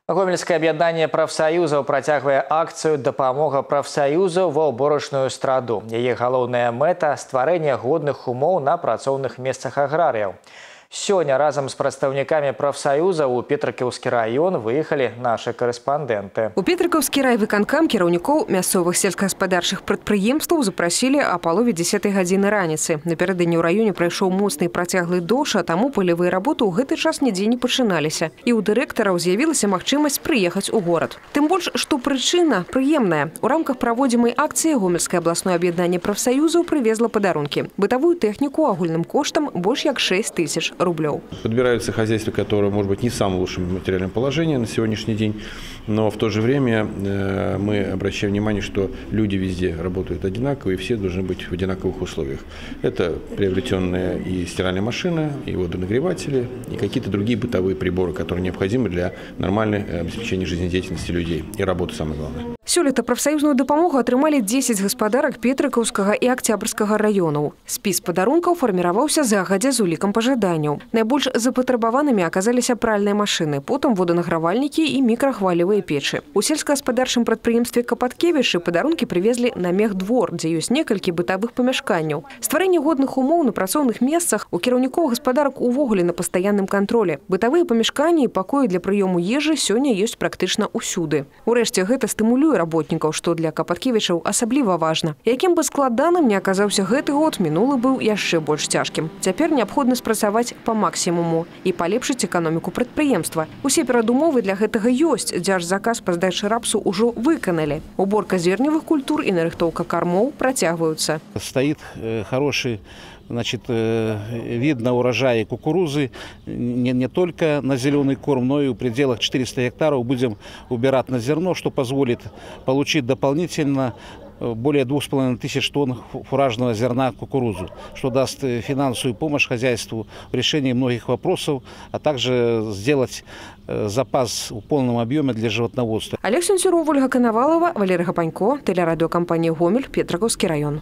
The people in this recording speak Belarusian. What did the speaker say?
Гомельское объединение профсоюзов працягвае акцию «Дапамога профсоюзу ва ўборачную страду». Яе галоўная мэта – стварэнне годных умоў на працоўных месцах аграрыяў. Сёння разом с представниками профсоюза у Петрыкаўскі район выехали наши корреспонденты. У Петрыкаўскі райвыканкам кіраўнікоў мясцовых сельскагаспадарчых прадпрыемстваў запрасілі о палове 10 гадзіны раніцы. Напярэдадні ў раёне прайшоў моцны і працяглы дождж, а таму палявыя работы ў гэты час нідзе не пачыналіся. І ў дырэктараў з'явілася магчымасць прыехаць у горад. Тым больш, што прычына прыемная. У рамках праводзімай акцыі Гомельскае абласное аб'яднанне прафсаюзаў прывезла падарункі. Бытавую тэхніку агульным коштам больш як 6 000 рублей. Подбираются хозяйства, которые, может быть, не в самом лучшем материальном положении на сегодняшний день, но в то же время мы обращаем внимание, что люди везде работают одинаково, и все должны быть в одинаковых условиях. Это приобретенные и стиральные машины, и водонагреватели, и какие-то другие бытовые приборы, которые необходимы для нормального обеспечения жизнедеятельности людей и работы, самое главное. Сёлета прафсаюзную дапамогу атрымалі 10 гаспадарак Петрыкаўскага і Акцябрскага раёнаў. Спіс падарункаў фарміраваўся загадзя з улікам пажаданняў. Найбольш запатрабаванымі аказаліся пральныя машыны, потым воданагравальнікі і мікрахвалевыя печы. У сельскагаспадарчым прадпрыемстве Капаткевічы падарункі прывезлі на мехдвор, дзе ёсць некалькі бытавых памяшканняў. Стварэнне годных умоў на працоўных месцах у кіраўнікоў гаспадарак увогуле на пастаянным кантролі. Бытавыя памяшканні і пакоі для прыёму ежы сёння ёсць практычна ўсюды. Урэшце гэта стымулюе работнікаў, што для Капаткевічаў асабліва важна. Якім бы складаным не аказаўся гэты год, мінулы быў яшчэ больш цяжкім. Цяпер неабходна спрацаваць па максімуму і палепшыць эканоміку прадпрыемства. Усе перадумовы для гэтага ёсць. Дзяржзаказ па здачы рапсу ўжо выканалі. Уборка зерневых культур і нарыхтоўка кормоў працягваюцца. Стоит хороший вид на урожаи кукурузы не только на зеленый корм, но и в пределах 400 гектаров будем убирать на зерно, что позволит получить дополнительно более 2500 тонн фуражного зерна кукурузу, что даст финансовую помощь хозяйству в решении многих вопросов, а также сделать запас в полном объеме для животноводства. Олег Сенцюров, Ольга Коновалова, Валерий Гапанько, телерадиокомпания «Гомель», Петрыкаўскі район.